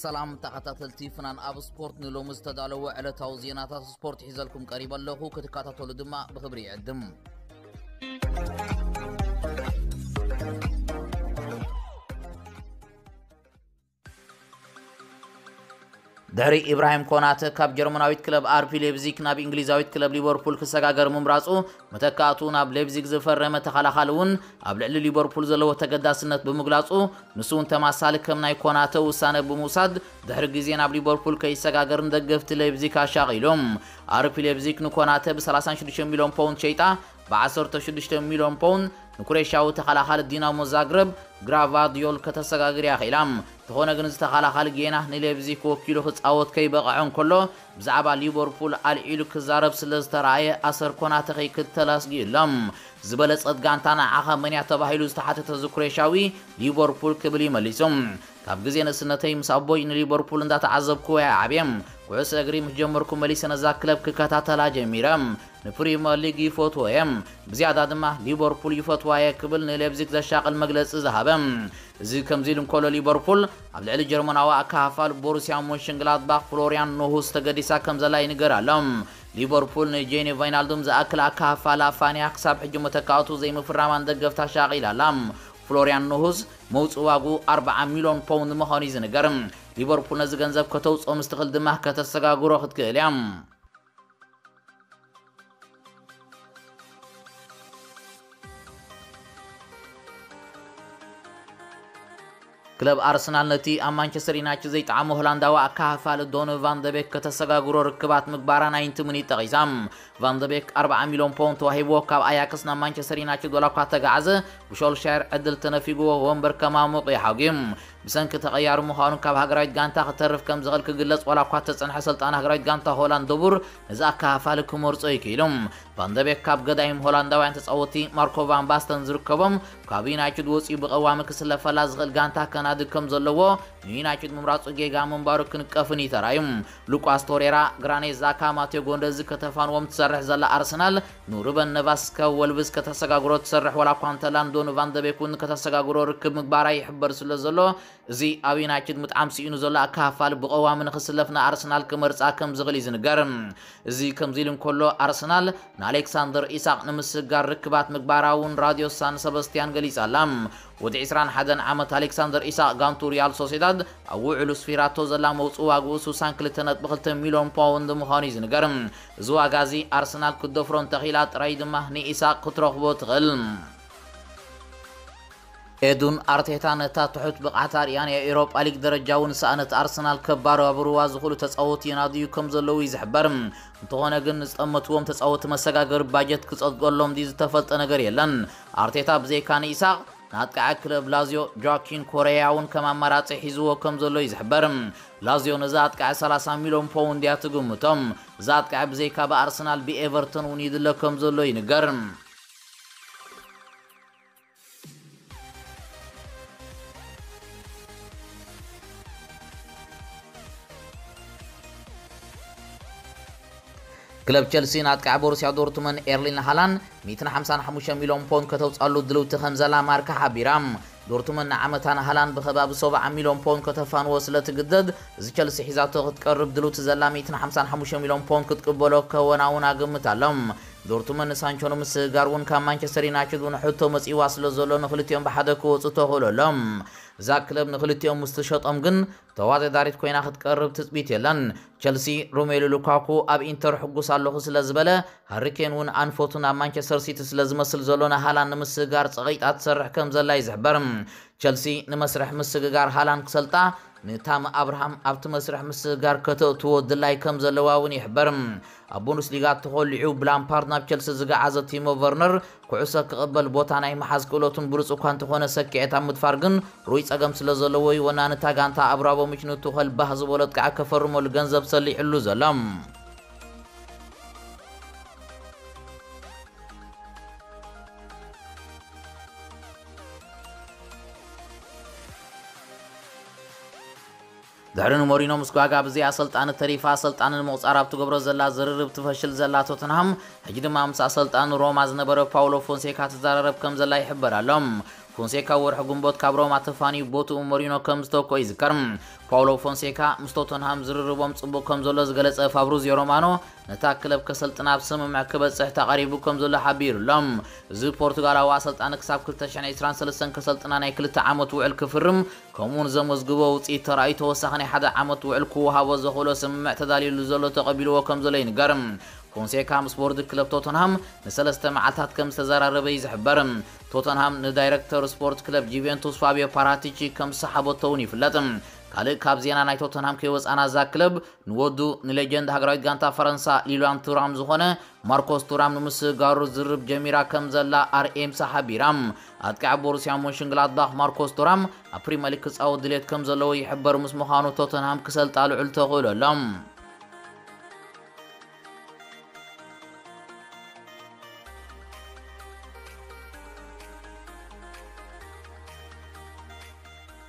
ሰላም ተኸታተልቲ ፍናን ኣብ ስፖርት፣ ንሎሚ ዝተዳለወ ዕለታዊ ዜናታት ስፖርት ሒዘልኩም ቀሪበ ኣለኹ። ክትከታተሉ ድማ ብኽብሪ ይዕድም። ድሕሪ ኢብራሂም ኮናተ ካብ ጀርመናዊት ክለብ ኣርቢ ሌብዚግ ናብ እንግሊዛዊት ክለብ ሊቨርፑል ክሰጋገር ምምራጹ፣ መተካእቱ ናብ ሌብዚግ ዝፈረመ ተኸላኻሊ እውን ኣብ ልዕሊ ሊቨርፑል ዘለዎ ተገዳስነት ብምግላጹ፣ ንሱ እውን ተማሳሊ ከም ናይ ኮናተ ውሳነ ብምውሳድ ድሕሪ ግዜ ናብ ሊቨርፑል ከይሰጋገር ንደገፍቲ ሌብዚግ ኣሻቒሉ። ኣርቢ ሌብዚግ ንኮናተ ብ ሰላሳ ሽዱሽተ ሚልዮን ፓውንድ ሸይጣ፣ ብ ዓሰርተ ሽዱሽተ ሚልዮን ፓውንድ ንኩሬሻዊ ተኸላኻሊ ዲናሞ ዛግረብ ግራቫዲዮል ከተሰጋግር እያ ኽኢላ። እንተኾነ ግን፣ እዚ ተኸላኻሊ ጌና ንሌብዚግ ወኪሉ ክጻወት ከይበቕዐ እንከሎ፣ ብዛዕባ ሊቨርፑል ኣልዒሉ ክዛረብ ስለ ዝተረኣየ፣ ኣሰር ኮናተ ከይክተል ኣስጊኡ ኣሎ። ዝበለጸት ጋንታ ንዓኻ መን እያ ተባሂሉ ዝተሓተተ እዚ ኩሬሻዊ፣ ሊቨርፑል ክብል እዩ መሊሱ። ካብ ግዜ ንእስነተይ ምስ ኣቦይ ንሊቨርፑል እንዳተዓዘብኩ እየ ዓብየ። ኩዕሶ እግሪ ምስ ጀመርኩ መሊሰ ነዛ ክለብ ክከታተላ ጀሚረ። ንፕሪመር ሊግ ይፈትዎ እየ። ብዝያዳ ድማ ሊቨርፑል ይፈትዋ እየ ክብል ንሌብዚግ ዘሻቕል መግለጺ ዝሃበ። እዚ ከምዚ ኢሉ እንከሎ፣ ሊቨርፑል ኣብ ልዕሊ ጀርመናዊ ኣካፋል ቦሩስያ ሞንሽንግላድባኽ ፍሎሪያን ኖሁስ ተገዲሳ ከም ዘላ ይንገር ኣሎ። ሊቨርፑል ንጄኒ ቫይናልዱም ዝኣክል ኣካፋላ ፋንያ ክሳብ ሕጂ መተካእቱ ዘይምፍራማን ደገፍታ ሻቒላ ኣላ። ፍሎሪያን ኖሁስ መውፅእ ዋግኡ ኣርብዓ ሚልዮን ፓውንድ ምዃኑ እዩ ዝንገር። ሊቨርፑል ነዚ ገንዘብ ከተውፅኦ ምስ ትኽእል ድማ ከተሰጋግሮ ክትክእል እያ። ክለብ ኣርሰናል ነቲ ኣብ ማንቸስተር ዩናይትድ ዘይጠዓሞ ሆላንዳዊ ኣካፋሊ ዶኒ ቫን ደቤክ ከተሰጋግሮ ርክባት ምግባራ ናይንቲ ሚኒት ጠቒሳ። ቫን ደቤክ ኣርብዓ ሚልዮን ፓውንድ ተዋሂብዎ ካብ ኣያክስ ናብ ማንቸስተር ዩናይትድ ዋላ እኳ ተጋዓዘ፣ ብሾልሻየር ዕድል ተነፊግዎ ወንበር ከማሙቕ እዩ ሓጒ። ብሰንኪ ተቐያሪ ምዃኑ ካብ ሃገራዊት ጋንታ ክተርፍ ከም ዝኽእል ክግለጽ ዋላ እኳ ተጸንሐ፣ ሰልጣን ሃገራዊት ጋንታ ሆላንድ ደቡር ነዚ ኣካፋሊ ክመርጾ እዩ ክኢሉ። ቫንደቤክ ካብ ገዳይም ሆላንዳውያን ተጻወትቲ ማርኮ ቫን ባስተን ዝርከቦም፣ ካብ ዩናይትድ ወጺኡ ብቐዋሚ ክስለፈላ ዝኽእል ጋንታ ከናድግ ከም ዘለዎ ንዩናይትድ ምምራጹ ጌጋ ምንባሩ ክንቀፍን እዩ ተራእዩ። ሉቃስ ቶሬራ፣ ግራኔት ዛካ፣ ማቴዮ ጎንደዚ ከተፋንዎም ትሰርሕ ዘላ ኣርሰናል፣ ንሩበን ነቫስ ካብ ወልቭስ ከተሰጋግሮ ትሰርሕ ዋላ እኳ እንተላን ዶኒ ቫንደቤክ እውን ከተሰጋግሮ ርክብ ምግባራ ይሕበር ስለ ዘሎ፣ እዚ ኣብ ዩናይትድ ምጥዓም ስኢኑ ዘሎ ኣካፋል ብቐዋሚ ንኽስለፍ ንኣርሰናል ክመርጻ ከም ዝኽእል እዩ ዝንገር። እዚ ከምዚ ኢሉ እንከሎ፣ ኣርሰናል ንኣሌክሳንደር ኢሳቕ ንምስግጋር ርክባት ምግባራ እውን ራድዮ ሳን ሰበስቲያን ገሊጻ ኣላ። ወዲ ዕስራን ሓደን ዓመት ኣሌክሳንደር ኢሳቕ ጋንቱ ሪያል ሶሴዳድ ኣብ ውዕሉ ስፊራቶ ዘላ መውጽኢ ዋግኡ ስሳን ክልተ ነጥቢ ክልተ ሚልዮን ፓውንድ ምዃኑ እዩ ዝንገር። እዚ ዋጋ እዚ ኣርሰናል ክትደፍሮ እንተኽኢላ ጥራይ ድማ ንኢሳቕ ክትረኽቦ ትኽእል። ኤዱን ኣርቴታ ነታ ትሑት ብቕዓት ኣርእያ ናይ ኤውሮጳ ሊግ ደረጃ እውን ሰኣነት ኣርሰናል ከባራብርዋ ዝኽእሉ ተጻወትቲ የናድዩ ከም ዘለዉ እዩ ዝሕበር። እንተኾነ ግን ንዝጠመትዎም ተጻወትቲ መሰጋገሪ ባጀት ክጸድቀሎም ድዩ ዝተፈልጠ ነገር የለን። ኣርቴታ ብዘይካ ንኢሳቕ ንኣጥቃዒ ክለብ ላዝዮ ጆኪን ኮሬያ እውን ከም ኣማራጺ ሒዝዎ ከም ዘሎ እዩ ዝሕበር። ላዝዮ ነዚ ኣጥቃዒ ሰላሳ ሚልዮን ፓውንድ እያ ትግምቶም። እዚ ኣጥቃዒ ብዘይካ ብኣርሰናል ብኤቨርተን እውን ይድለ ከም ዘሎ ይንገር። ክለብ ቸልሲ ንኣጥቃዒ ቦሩስያ ዶርትመን ኤርሊን ሃላንድ ሚእትን ሓምሳን ሓሙሽተ ሚልዮን ፖንድ ከተውጻሉ ድልውቲ ከም ዘላ ማርካ ሓቢራ። ዶርትመን ንዓመታ ንሃላንድ ብከባቢ ሰብዓ ሚልዮን ፖንድ ከተፋንዎ ስለ ትግደድ፣ እዚ ቸልሲ ሒዛቶ ክትቀርብ ድልውቲ ዘላ ሚእትን ሓምሳን ሓሙሽተ ሚልዮን ፖንድ ክትቅበሎ ከወናውና ግምት ኣሎ። ዶርትመን ንሳንቾ ንምስግጋር እውን ካብ ማንቸስተር ዩናይትድ እውን ሕቶ መጺእዋ ስለ ዘሎ፣ ንክልቲኦም ብሓደ ክወጹ ተኽእሎ ኣሎ። እዛ ክለብ ንክልቲኦም ምስ ትሸጦም ግን ተወዳዳሪት ኮይና ክትቀርብ ትጽቢት የለን። ቸልሲ ሮሜሉ ሉካኩ ኣብ ኢንተር ሕጉስ ኣለኹ ስለ ዝበለ፣ ሃሪኬን እውን ኣንፈቱ ናብ ማንቸስተር ሲቲ ስለ ዝመስል ዘሎ፣ ንሃላንድ ንምስግጋር ጸቒጣ ትሰርሕ ከም ዘላ እዩ ዝሕበር። ቸልሲ ንመስርሕ ምስግጋር ሃላንድ ክሰልጣ፣ ንታም ኣብርሃም ኣብቲ መስርሕ ምስግጋር ከተእትዎ ድላይ ከም ዘለዋ እውን ይሕበር። ኣብ ቡንደስሊጋ ተኾሊዑ ብላምፓርድ ናብ ቸልሲ ዝገዓዘ ቲሞ ቨርነር፣ ኩዕሶ ክቕበል ቦታ ናይ ምሓዝ ክእለቱን ብሉጽ እኳ እንተኾነ፣ ሰኪዐት ኣብ ምድፋር ግን ሩይ ጸገም ስለ ዘለዎ እዩ። ወናኒ እታ ጋንታ ኣብራሞቪች ንቱኸል ባህ ዝበሎ ኣጥቃዒ ከፈርመሉ ገንዘብ ሰሊዕሉ ዘሎ። ድሕሪ ንሞሪኖ ምስ ጓጋ ብዘይ ኣሰልጣኒ ተሪፋ፣ ኣሰልጣኒ ንምቑጻር ኣብ ትገብሮ ዘላ ዝርርብ ትፈሽል ዘላ ቶተንሃም፣ ሕጂ ድማ ምስ ኣሰልጣኒ ሮማ ዝነበረ ፓውሎ ፎንሴካ ትዘራረብ ከም ዘላ ይሕበር ኣሎ። ፎንሴካ ወርሒ ግንቦት ካብ ሮማ ተፋንዩ ቦትኡ ሞሪኖ ከም ዝተወክኦ ይዝከር። ፓውሎ ፎንሴካ ምስ ቶተንሃም ዝርርቦም ጽቡቕ ከም ዘሎ ዝገለጸ ፋብሪዚዮ ሮማኖ፣ ነታ ክለብ ከሰልጥና ኣብ ስምምዕ ክበጽሕ ተቓሪቡ ከም ዘሎ ሓቢሩ ኣሎ። እዚ ፖርቱጋላዊ ኣሰልጣኒ ክሳብ ክልተ ሽሕን ዕስራን ሰለስተን ከሰልጥና ናይ ክልተ ዓመት ውዕል ክፍርም፣ ከምኡውን ዘመዝግቦ ውጽኢት ተራእዩ ተወሳኺ ናይ ሓደ ዓመት ውዕል ክወሃቦ ዘኽእሎ ስምምዕ ተዳልዩሉ ዘሎ ተቐቢልዎ ከም ዘሎ ይንገር። ፎንሴካ ምስ ቦርድ ክለብ ቶተንሃም ንሰለስተ መዓልታት ከም ዝተዘራረበ እዩ ዝሕበር። ቶተንሃም ንዳይረክተር ስፖርት ክለብ ጁቬንቱስ ፋቢዮ ፓራቲቺ ከም ዝሰሓበቶ እውን ይፍለጥ። ካልእ ካብ ዜና ናይ ቶተንሃም ከይወጻና፣ እዛ ክለብ ንወዱ ንሌጀንድ ሃገራዊት ጋንታ ፈረንሳ ሊላን ቱራም ዝኾነ ማርኮስ ቱራም ንምስግጋሩ ዝርርብ ጀሚራ ከም ዘላ ኣርኤምሲ ሓቢራ። ኣጥቃዒ ቦሩስያ ሞንሽንግላድባኽ ማርኮስ ቱራም ኣብ ፕሪምየር ሊግ ክጻወት ድሌት ከም ዘለዎ ይሕበር ምስ ምዃኑ ቶተንሃም ክሰልጣ ልዑል ተኽእሎ ኣሎ።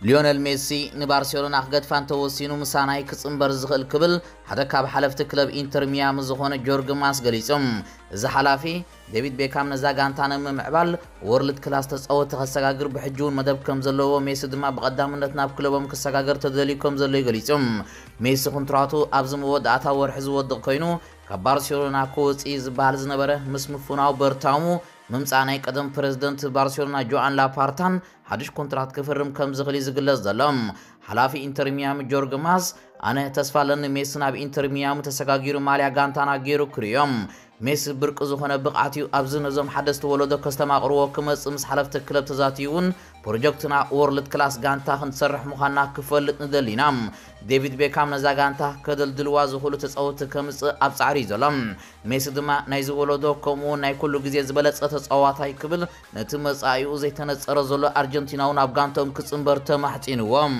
ሊዮነል ሜሲ ንባርሴሎና ክገድፋ እንተወሲኑ ምሳና እዩ ክጽንበር ዝኽእል ክብል ሓደ ካብ ሓለፍቲ ክለብ ኢንተር ሚያሚ ዝኾነ ጆርግ ማስ ገሊጹ። እዚ ሓላፊ ዴቪድ ቤካም ነዛ ጋንታ ንምምዕባል ወርልድ ክላስ ተጻወቲ ከሰጋግር ብሕጂ እውን መደብ ከም ዘለዎ፣ ሜሲ ድማ ብቐዳምነት ናብ ክለቦም ክሰጋገር ተደልዩ ከም ዘሎ እዩ ገሊጹ። ሜሲ ኮንትራቱ ኣብዚ መወዳእታ ወርሒ ዝወድቕ ኮይኑ ካብ ባርሴሎና ክወጽእ እዩ ዝበሃል ዝነበረ ምስ ምፍናው በርታሙ ምምጻእ ናይ ቀደም ፕረዚደንት ባርሴሎና ጆኣን ላፓርታን ሓድሽ ኮንትራት ክፍርም ከም ዝኽእል እዩ ዝግለጽ ዘሎ። ሓላፊ ኢንተር ሚያሚ ጆርግ ማስ፣ ኣነ ተስፋ ኣለኒ ሜሲ ናብ ኢንተር ሚያሚ ተሰጋጊሩ ማልያ ጋንታና ገይሩ ክርእዮም። ሜሲ ብርቂ ዝኾነ ብቕዓት እዩ፣ ኣብዚ ነዞም ሓደስቲ ወለዶ ከስተማቕርዎ ክመጽእ ምስ ሓለፍቲ ክለብ ተዛትዩ እውን ፕሮጀክትና ወርልድ ክላስ ጋንታ ክንሰርሕ ምዃንና ክፈልጥ ንደሊ ኢና። ዴቪድ ቤካም ነዛ ጋንታ ከደልድልዋ ዝኽእሉ ተጻወትቲ ከምጽእ ኣብ ጻዕሪ እዩ ዘሎ። ሜሲ ድማ ናይዚ ወለዶ ከምኡ እውን ናይ ኩሉ ግዜ ዝበለጸ ተጻዋታይ ክብል ነቲ መጻኢኡ ዘይተነጸረ ዘሎ ኣርጀንቲናዊ ናብ ጋንቶም ክጽንበር ተማሕጺንዎም።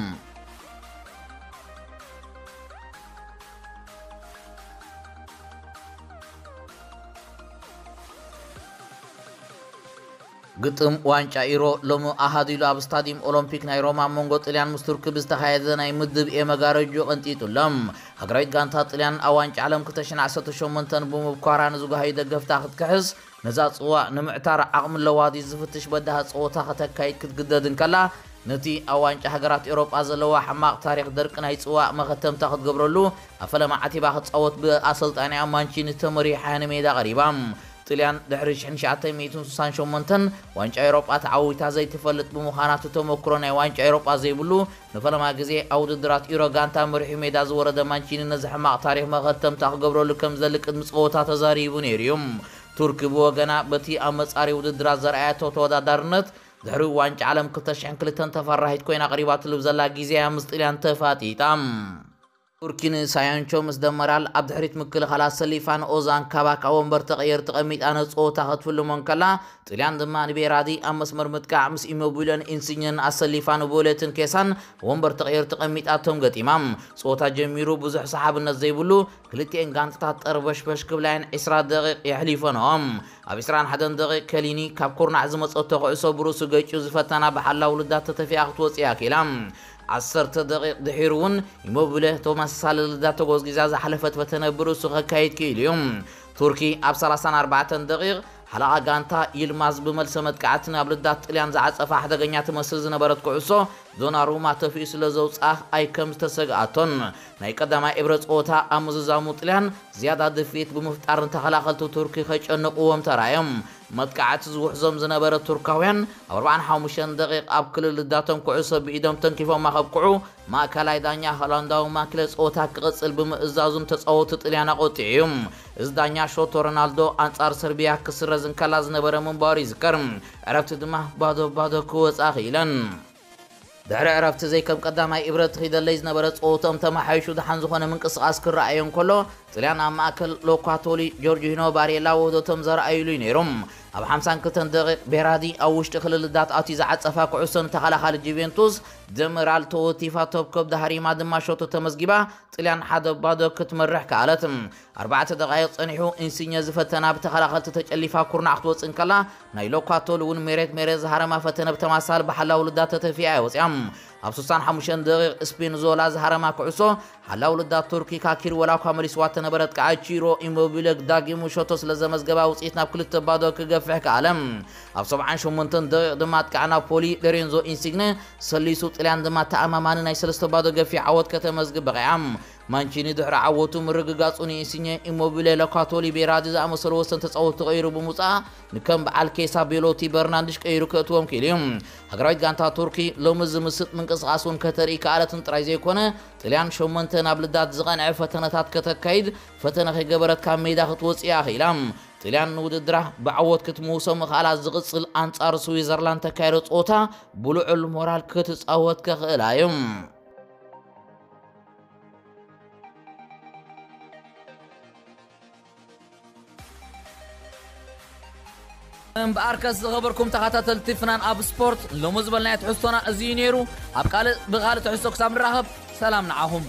ግጥም ዋንጫ ኢሮ ሎሚ ኣሃዱ ኢሉ ኣብ ስታዲየም ኦሎምፒክ ናይ ሮማ ኣብ መንጎ ጥልያን ምስ ቱርኪ ብዝተኻየደ ናይ ምድብ ኤ መጋረጆ ቀንጢጡ ኣሎ። ሃገራዊት ጋንታ ጥልያን ኣብ ዋንጫ ዓለም ክልተ ሽሕን ዓሰርተ ሸሞንተን ብምብኳራ ንዝጓሃዩ ደገፍታ ክትክሕስ፣ ነዛ ጽዋእ ንምዕታር ዓቕሚ ኣለዋ ድዩ ዝፍትሽ በዳሂ ጸወታ ከተካይድ ክትግደድ እንከላ፣ ነቲ ኣብ ዋንጫ ሃገራት ኤውሮጳ ዘለዋ ሕማቕ ታሪኽ ደርቂ ናይ ጽዋእ መኸተምታ ክትገብረሉ ኣብ ፈለማ ዓቲባ ክትጻወት ብኣሰልጣኒኣ ማንቺኒ ተመሪሓ ንሜዳ ቀሪባ። ጥልያን ድሕሪ ሽሕን ትሽዓተ ሚእትን ስሳን ሸሞንተን ዋንጫ ኤውሮጳ ተዓዊታ ዘይትፈልጥ ብምዃና፣ እቲ ተመክሮ ናይ ዋንጫ ኤውሮጳ ዘይብሉ ንፈለማ ግዜ ኣብ ውድድራት ኢሮ ጋንታ መሪሑ ሜዳ ዝወረደ ማንቺኒ ነዚ ሕማቕ ታሪኽ መኸተምታ ክገብረሉ ከም ዝደሊ ቅድሚ ጸወታ ተዛሪቡ ነይሩ እዩ። ቱርኪ ብወገና በቲ ኣብ መጻሪ ውድድራት ዘርኣየቶ ተወዳዳርነት ድሕሪ ዋንጫ ዓለም ክልተ ሽሕን ክልተን ተፈራሂት ኮይና ቀሪባትሉ ብዘላ ግዜ እያ ምስ ጥልያን ተፋጢጣ። ቱርኪ ንሳያንቾ ምስ ደመራል ኣብ ድሕሪት ምክልኻል ኣሰሊፋን ኦዛን ካባክ ኣብ ወንበር ተቐየር ተቐሚጣ ነቲ ጸወታ ክትፍልሞ እንከላ፣ ጥልያን ድማ ንቤራዲ ኣብ መስመር ምጥቃዕ ምስ ኢሞቢለን ኢንሲኘን ኣሰሊፋ ንቦሌትን ኬሳን ወንበር ተቐየር ተቐሚጣቶም ገጢማ። ጸወታ ጀሚሩ ብዙሕ ሰሓብነት ዘይብሉ፣ ክልቲኤን ጋንታታት ጠርበሽበሽ ክብላየን ዕስራ ደቂቕ የሕሊፈንኦም። ኣብ ዕስራን ሓደን ደቂቕ ከሊኒ ካብ ኩርናዕ ዝመጸቶ ኩዕሶ ብርእሱ ገጭዩ ዝፈተና ብሓላው ልዳት ተተፊኣ ክትወጽእ እያ ክኢላ። ዓሰርተ ደቂቕ ድሒሩ እውን ኢሞቢለ ተመሳሳሊ ልዳት ተጎዝጊዛ ዝሓለፈት ፈተነ ብርእሱ ከካይድ ክኢሉ እዩ። ቱርኪ ኣብ ሰላሳን ኣርባዕተን ደቂቕ ሓለቓ ጋንታ ይልማዝ ብመልሰ መጥቃዕቲ ናብ ልዳት ጥልያን ዝዓጸፋ ሓደገኛ ትመስል ዝነበረት ኩዕሶ ዶናሩማ ተፊኡ ስለ ዘውጽኣ ኣይ ከም ዝተሰግኣቶን ናይ ቀዳማይ እብረ ጸወታ ኣብ ምዝዛሙ ጥልያን ዝያዳ ድፍኢት ብምፍጣርን ተኸላኸልቲ ቱርኪ ከጨንቕዎም ተራእዮም። መጥቃዕቲ ዝውሕዞም ዝነበረ ቱርካውያን ኣብ ኣርባዓን ሓሙሽተን ደቂቕ ኣብ ክልል ልዳቶም ኩዕሶ ብኢዶም ተንኪፎማ ከብቅዑ፣ ማእከላይ ዳኛ ሆላንዳዊ ማክለ ጸወታ ክቕጽል ብምእዛዙ ንተጻወትቲ ጥልያን ኣቖጢዑ እዩ። እዚ ዳኛ ሾቶ ሮናልዶ ኣንጻር ሰርቢያ ክስረዝ እንከላ ዝነበረ ምንባሩ ይዝከር። ዕረፍቲ ድማ ባዶ ባዶ ክወጻ ክኢለን። ድሕሪ ዕረፍቲ ዘይከም ቀዳማይ እብረት ኺደለይ ዝነበረ ጸወቶም ተመሓይሹ ደሓን ዝኾነ ምንቅስቓስ ክረኣዮ እንከሎ፣ ጥልያን ኣብ ማእከል ሎኳቶሊ ጆርጂኖ ባሬላ ውህደቶም ዘርኣዩሉ እዩ ነይሩ። ኣብ ሓምሳን ክልተን ደቂቕ ቤራዲ ኣብ ውሽጢ ክልል ልዳት ኣትዩ ዝዓጸፋ ኩዕሶ ንተኸላኻሊ ጁቬንቱስ ጀነራል ተወቲፋ ተብከብ ዳሃሪማ ድማ ሸቶ ተመዝጊባ፣ ጥልያን ሓደ ባዶ ክትመርሕ ከኣለት። ኣርባዕተ ደቓይቕ ጸኒሑ ኢንሲኘ ዝፈተና ብተኸላኸልቲ ተጨሊፋ ኩርናዕ ክትወጽእ እንከላ፣ ናይ ሎካቶሊ እውን ሜሬት ሜሬት ዝሃረማ ፈተነ ብተማሳል ብሓላው ልዳት ተተፊኣ እያ ወጽያ። ኣብ ስሳን ሓሙሽተን ደቒቕ ስፒንዞላ ዝሃረማ ኩዕሶ ሓላው ልዳት ቱርኪ ካኪር ወላ እኳ መሊስዋ ተነበረት፣ ከዓ ቺሮ ኢሞቢለ ዳጊሙ ሸቶ ስለ ዘመዝገባ ውፅኢት ናብ ክልተ ባዶ ክገፍሕ ከኣለ። ኣብ ሰብዓን ሸሞንተን ደቒቕ ድማ ኣጥቃዕ ናፖሊ ሎሬንዞ ኢንሲግነ ሰሊሱ ጥልያን ድማ ተኣማማኒ ናይ ሰለስተ ባዶ ገፊሕ ዓወት ከተመዝግብ በቒዓ። ማንቺኒ ድሕሪ ዓወቱ ምርግጋጹ ንኢንሲኘ ኢሞቢለ፣ ሎካቶሊ፣ ቤራዲ ዝኣመሰሉ ወሰን ተጻወትቲ ቀይሩ ብምውጻእ ንከም በዓል ኬሳ፣ ቤሎቲ፣ በርናንድሽ ቀይሩ ከእትዎም ክኢሉ እዩ። ሃገራዊት ጋንታ ቱርኪ ሎሚ ዝምስጥ ምንቅስቓስ እውን ከተርኢ ከኣለትን ጥራይ ዘይኮነ ጥልያን ሸሞንተ ናብ ልዳት ዝቐንዐ ፈተነታት ከተካይድ ፈተነ ከይገበረት ካብ ሜዳ ክትወጽእ እያ ክኢላ። ጥልያን ንውድድራ ብዓወት ክትምውሶ ምኽኣላ ዝቕጽል ኣንጻር ስዊዘርላንድ ተካይዶ ጸወታ ብልዑል ሞራል ክትጻወት ከኽእላ እዩ። እምበኣርከስ ዝኸበርኩም ተኸታተልቲ ፍናን ኣብ ስፖርት፣ ሎሚ ዝበልናዮ ትሕዝቶና እዚ እዩ ነይሩ። ኣብ ካልእ ብኻልእ ትሕዝቶ ክሳብ ንራኸብ፣ ሰላም ንዓኹም።